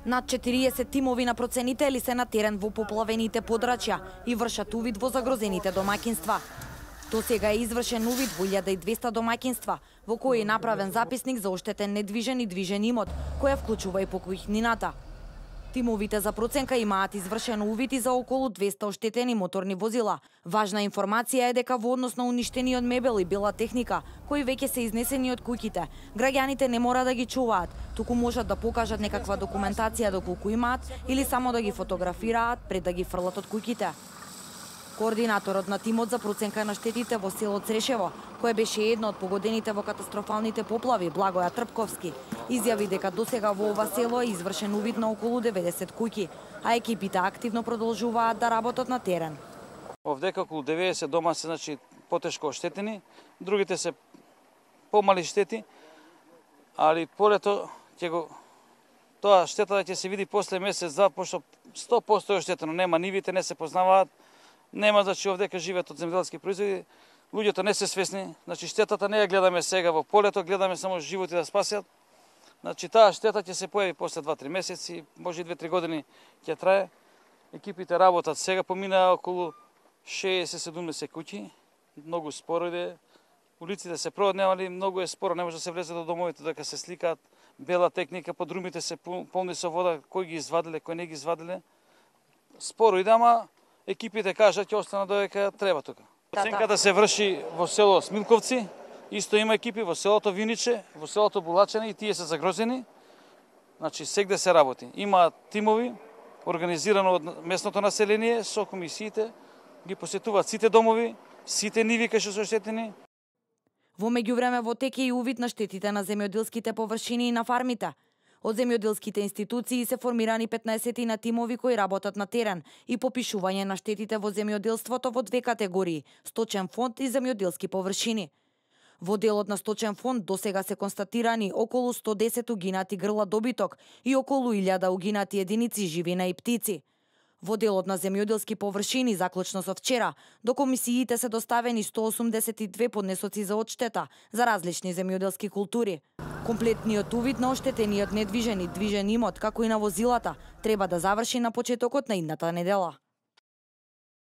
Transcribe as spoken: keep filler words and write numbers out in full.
Над четириесет тимови на проценители се на терен во поплавените подрачја и вршат увид во загрозените домаќинства. До сега е извршен увид во илјада и двесте домаќинства, во кои е направен записник за оштетен недвижен и движен имот, која вклучува и покујнината. Тимовите за проценка имаат извршен увид и за околу двесте оштетени моторни возила. Важна информација е дека во однос на уништениот мебел и бела техника, кои веќе се изнесени од куќите, граѓаните не мора да ги чуваат, туку можат да покажат некаква документација доколку имаат или само да ги фотографираат пред да ги фрлат од куќите. Координаторот на тимот за проценка на штетите во село Црешево, кој беше едно од погодените во катастрофалните поплави, Благоја Трпковски, изјави дека досега во ова село е извршен увид на околу деветдесет куќи, а екипите активно продолжуваат да работат на терен. Овдека околу деветдесет дома се значи потешко оштетени, другите се помали штети, али полето ќе го тоа штетата ќе се види после месец два, пошто сто проценти е оштетено, нема нивите, не се познаваат. Нема, значи, овдека живеат од земјоделски производи, луѓето не се свесни, значи штетата не ја гледаме сега во полето, гледаме само животи да спасят. Значи таа штета ќе се појави после два-три месеци, може и две-три години ќе трае. Екипите работат сега, поминаа околу шеесет-седумдесет куќи, многу споро иде. Улиците се проводневали, многу е споро, не може да се влезе до домовите, дека се сликаат бела техника, подрумите се полни со вода, кој ги извадиле, кој не ги извадиле. Споро иде, ама екипите кажат ќе остана додека треба тука. Проценката се врши во село Смилковци, исто има екипи во селото Виниче, во селото Булачене и тие се загрозени. Значи сегде се работи. Има тимови организирано од местното население со комисиите, ги посетуваат сите домови, сите ниви кај што се оштетени. Во меѓувреме во тек е и увид на штетите на земјоделските површини и на фармите. Од земјоделските институции се формирани петнаесет тимови кои работат на терен и попишување на штетите во земјоделството во две категории – сточен фонд и земјоделски површини. Во делот на сточен фонд досега се констатирани околу сто десет угинати грла добиток и околу илјада угинати единици живина и птици. Во делот на земјоделски површини, заклучно со вчера, до комисиите се доставени сто осумдесет и две поднесоци за одштета за различни земјоделски култури. Комплетниот увид на оштетениот недвижен и движен имот, како и на возилата, треба да заврши на почетокот на идната недела.